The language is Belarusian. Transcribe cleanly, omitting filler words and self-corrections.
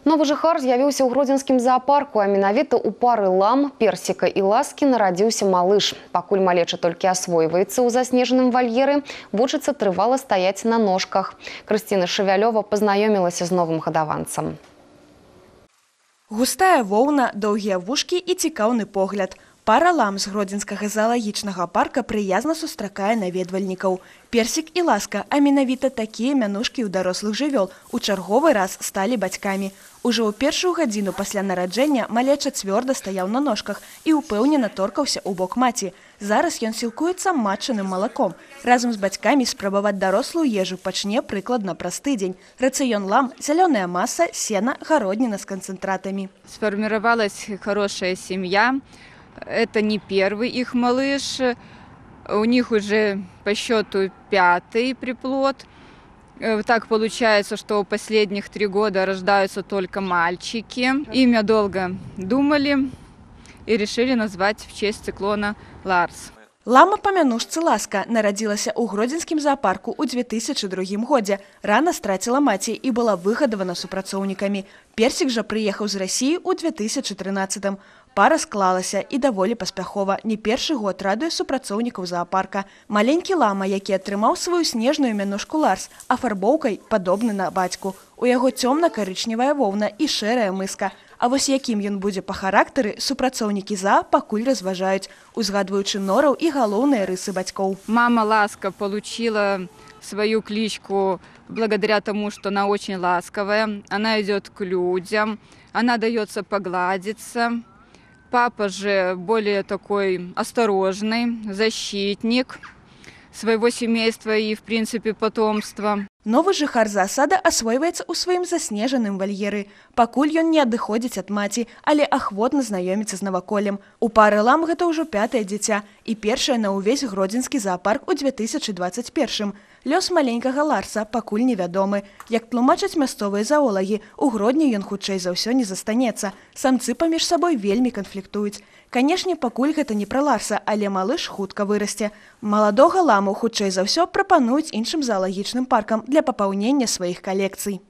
Новы жыхар з'явіўся ў гродзенскім заапарку, а менавіта ў пары лам, персіка і ласкі нарадзіўся малыш. Пакуль малеча толькі асвойваецца ў заснежаным вальеры, вучыцца трывала стаяць на ножках. Крысціна Шавялёва пазнаёмілася з новым гадаванцам. Густая воўна, доўгія вушкі і цікаўны погляд. Пара лам з гродзенскага заалагічнага парка прыязна сустракае наведвальнікаў. Персік і ласка, а менавіта такія мянушкі ў дарослых жывёл у чарговы раз сталі бацькамі. Ужо ў першую гадзіну пасля нараджэння малеча цвёрда стаяў на ножках і ўпэўнена торкаўся ў бок маці. Зараз ён сілкуецца матчаным малаком. Разам з бацькамі спрабаваць дарослую ежу пачне прыкладна праз тыдзень. Рацыён лам, зялёная маса, сена, гародніна з канцэнтратамі. Сфармировалась хорошая семья. Это не первый их малыш. У них уже по счету 5-й приплод. Так получается, что последних 3 года рождаются только мальчики. Имя долго думали и решили назвать в честь циклона Ларс. Лама па мянушцы Ласка нарадзілася ў гродзенскім заапарку ў 2002 годзе. Рана страціла маці і была выгадавана супрацоўнікамі. Персік жа прыехаў з Расіі ў 2013. Пара склалася і даволі паспяхова. Не першы год радуе супрацоўнікаў заапарка. Маленькі лама, які атрымаў сваю снежную мянушку Ларс, афарбоўкай падобны на бацьку. У яго цёмна-карычневая воўна і шэрая мыска. А вось якім ён будзе па характары, супрацоўнікі заа пакуль разважаюць, узгадваючы нораў і галоўныя рысы бацькоў. Мама Ласка получила свою кличку благодаря тому, что она очень ласковая. Она идет к людям, она дается погладиться. Папа же более такой осторожный, защитник своего семейства и, в принципе, потомства. Новы жыхар заасада асвойваецца ў сваім заснежаным вальеры. Пакуль ён не адыходзіць ад маці, але ахвотна знаёміцца з наваколлем. У пары лам гэта ўжо 5-е дзіця і першае на ўвесь гродзенскі заапарк у 2021. Лёс маленькага Ларса пакуль невядомы. Як тлумачаць мясцовыя заолагі, у Гродні ён хутчэй за ўсё не застанецца. Самцы паміж сабой вельмі канфліктуюць. Канешне, пакуль гэта не пра Ларса, але малыш хутка вырасце. Маладога ламу хутчэй за ўсё прапануюць іншым заалагічным паркам для папаўнення сваіх калекцый.